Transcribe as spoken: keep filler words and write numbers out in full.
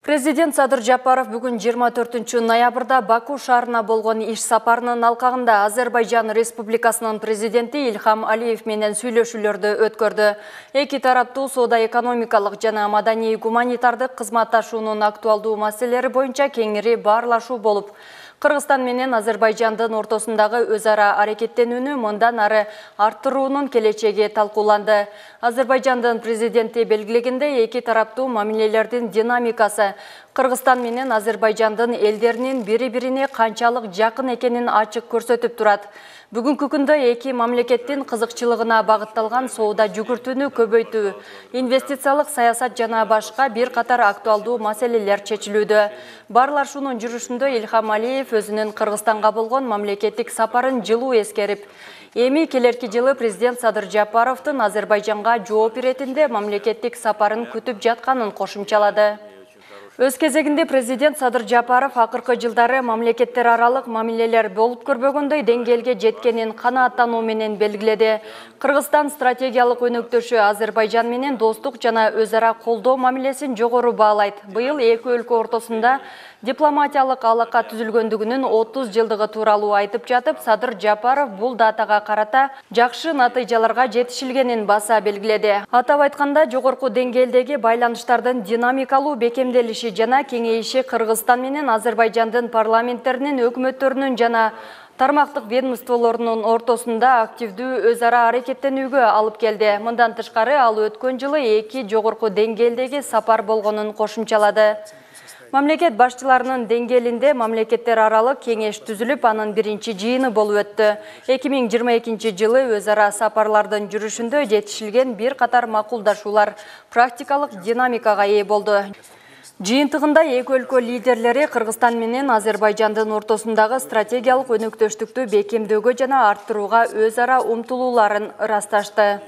Президент Садыр Жапаров бүгүн жыйырма төртүнчү ноябрда Баку шаарына болгон иш сапарынын алкагында Азербайжан Республикасынын президенти Ильхам Алиев менен сүйлөшүүлөрдү өткөрдү. Эки тараптуу соода-экономикалык жана маданий-гуманитардык кызматташуунун актуалдуу маселелери боюнча кеңири баарлашуу болуп, Кыргызстан менен Азербайжандын ортосундагы өз ара аракеттенүүнү мындан ары арттыруунун келечеги талкууланды. Азербайжандын президенти белгилегендей, эки тараптуу мамилелердин динамикасы Кыргызстан менен Азербайжандын элдеринин бири-бирине канчалык жакын экенин ачык көрсөтүп турат. Бүгүнкү күндө эки мамлекеттин кызыкчылыгына багытталган соода жүгүртүүнү көбөйтүү, инвестициялык саясат жана башка бир катар актуалдуу маселелер чечилүүдө. Баарлашуунун жүрүшүндө Ильхам Алиев өзүнүн Кыргызстанга болгон мамлекеттик сапарын жылуу эскерип, эми келерки жылы президент Садыр Жапаровдун Азербайжанга жооп иретинде мамлекеттик сапарын күтүп жатканын кошумчалады. Өз кезегинде президент Садыр Жапаров акыркы жылдары мамлекеттер аралык мамилелер болуп көрбөгөндөй деңгээлге жеткенин канааттануу менен белгиледи. Кыргызстан стратегиялык өнөктөшү Азербайжан менен достук жана өз ара колдоо мамилесин жогору баалайт. Быйыл эки өлкө ортосунда дипломатиялык алака түзүлгөндүгүнүн отуз жылдыгы тууралуу айтып жатып, Садыр Жапаров бул датага карата жакшы натыйжаларга жетишилгенин баса белгиледи. Атап айтканда, жогорку деңгээлдеги байланыштардын динамикалуу бекемделиши жана кеңейиши Кыргызстан менен Азербайжандын парламенттеринин, өкмөттөрүнүн жана тармактык ведомстволорунун ортосунда активдүү өз ара аракеттенүүгө алып келди. Мындан тышкары, ал өткөн жылы эки жогорку деңгээлдеги сапар болгонун кошумчалады. Мамлекет башчыларынын деңгээлинде мамлекеттер аралык кеңеш түзүлүп, анын биринчи жыйыны болуп өттү. эки миң жыйырма экинчи жылы өз ара сапарлардын жүрүшүндө жетишилген бир катар макулдашуулар практикалык динамикага ээ болду. Жыйынтыгында эки өлкө лидерлери Кыргызстан менен Азербайжандын ортосундагы стратегиялык өнөктөштүктү бекемдөөгө жана арттырууга өз ара умтулууларын ырасташты.